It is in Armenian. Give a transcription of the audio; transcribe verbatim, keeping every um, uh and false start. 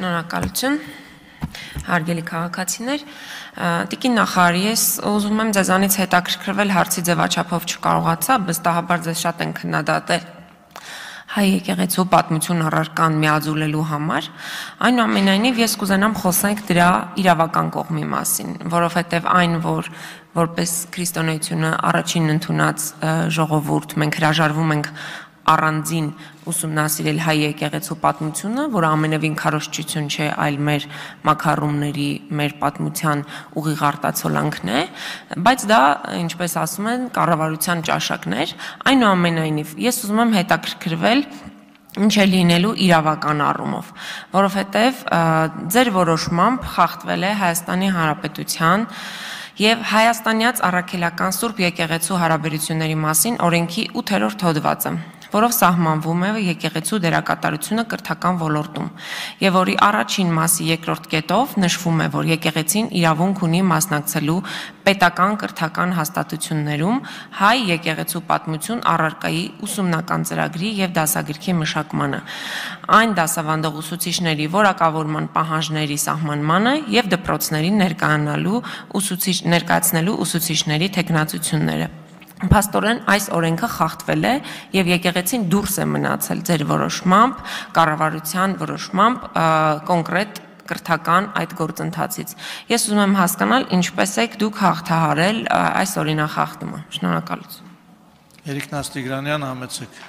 Շնորհակալություն, հարգելի քաղաքացիներ, Տիկին նախարար, ես ուզում եմ ձեզանից հետաքրքրվել հարցի ձևաչափով չկարողացա, վստահաբար ձեզ շատ են քննադատել հայ եկեղեցու պատմություն առարկան միաձուլելու համար, այնուամենայնիվ ես կուզենամ խոսենք դրա իրավական կողմի մասին, որովհետև այն, որ որպես քրիստոնեությունը առաջին ընդունած ժողովուրդ մենք հրաժարվում ենք առանձին ուսումնասիրել հայ եկեղեցու պատմությունը, որը ամենևին քարոզչություն չէ, այլ մեր մաքարումների, մեր պատմության ուղիղ արտացոլանքն է, բայց դա, ինչպես ասում են, կառավարության ճաշակներ, այնուամենայնիվ ես ուզում եմ հետաքրքրվել ինչ է լինելու իրավական առումով, որովհետև ձեր որոշմամբ խախտվել է Հայաստանի Հանրապետության և հայաստանյաց առաքելական Սուրբ եկեղեցու հարաբերությունների մասին օրենքի ութերորդ հոդվածը, որով սահմանվում է եկեղեցու դերակատարությունը կրթական ոլորտում, և որի առաջին մասի երկրորդ կետով նշվում է, որ եկեղեցին իրավունք ունի մասնակցելու պետական կրթական հաստատություններում հայ եկեղեցու պատմություն առարկայի ուսումնական ծրագրի և դասագրքի մշակմանը, այն դասավանդող ուսուցիչների որակավորման պահանջների սահմանմանը և դպրոցներին ներկայացնելու ուսուցիչների թեկնածությունները։ Փաստորեն այս օրենքը խախտվել է և եկեղեցին դուրս է մնացել ձեր որոշմամբ, կառավարության որոշմամբ կոնկրետ կրթական այդ գործընթացից։ Ես ուզում եմ հասկանալ ինչպես եք դուք հաղթահարել այս օրինախախտումը։ Շնորհակալություն։ Երիկնաց Տիգրանյան, համեցեք։